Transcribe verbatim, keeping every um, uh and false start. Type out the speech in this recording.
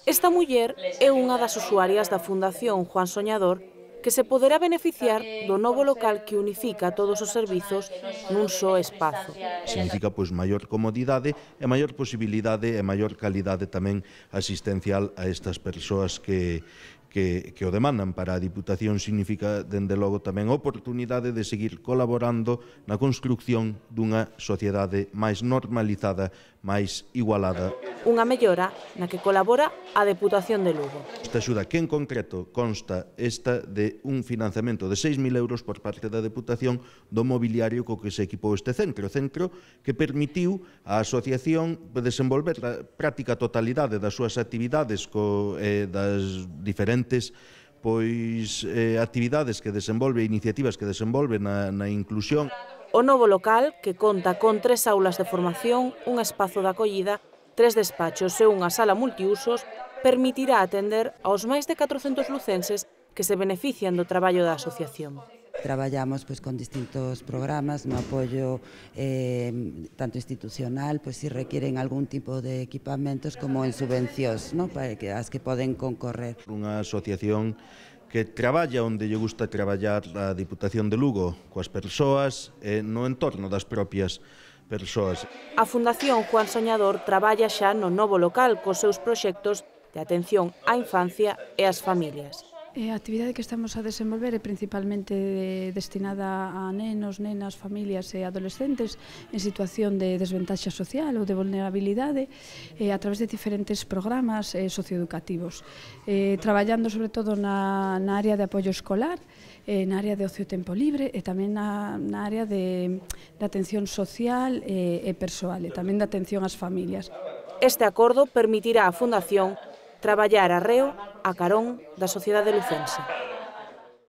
Esta muller é unha das usuarias da Fundación Juan Soñador que se poderá beneficiar do novo local que unifica todos os servizos nun só espazo. Significa pois maior comodidade e maior posibilidade e maior calidade tamén asistencial a estas persoas que Que, que o demandan. Para a Diputación significa, dende logo, tamén a oportunidade de seguir colaborando na construcción dunha sociedade máis normalizada, máis igualada. Unha mellora na que colabora a Deputación de Lugo. Esta axuda, que en concreto consta esta de un financiamento de seis mil euros por parte da Deputación do mobiliario co que se equipou este centro, centro que permitiu á asociación desenvolver a práctica totalidade das súas actividades co, eh, das diferentes pois eh, actividades que desenvolve, iniciativas que desenvolve na, na inclusión. O novo local, que conta con tres aulas de formación, un espazo de acollida, tres despachos e unha sala multiusos, permitirá atender aos máis de catrocentos lucenses que se benefician do traballo da asociación. Traballamos pois, con distintos programas no apoio eh, tanto institucional, pois si requieren algún tipo de equipamentos como en subvencións, ¿no? Para que as que poden concorrer. Unha asociación que traballa onde lle gusta traballar a Diputación de Lugo, coas persoas e no entorno das propias persoas. A Fundación Juan Soñador traballa xa no novo local cos seus proxectos de atención á infancia e ás familias. A actividade que estamos a desenvolver é principalmente destinada a nenos, nenas, familias e adolescentes en situación de desventaxa social ou de vulnerabilidade a través de diferentes programas socioeducativos, traballando sobre todo na, na área de apoio escolar, na área de ocio e tempo libre e tamén na, na área de, de atención social e, e persoal e tamén de atención ás familias. Este acordo permitirá á Fundación traballar arreo a carón da sociedade lucense.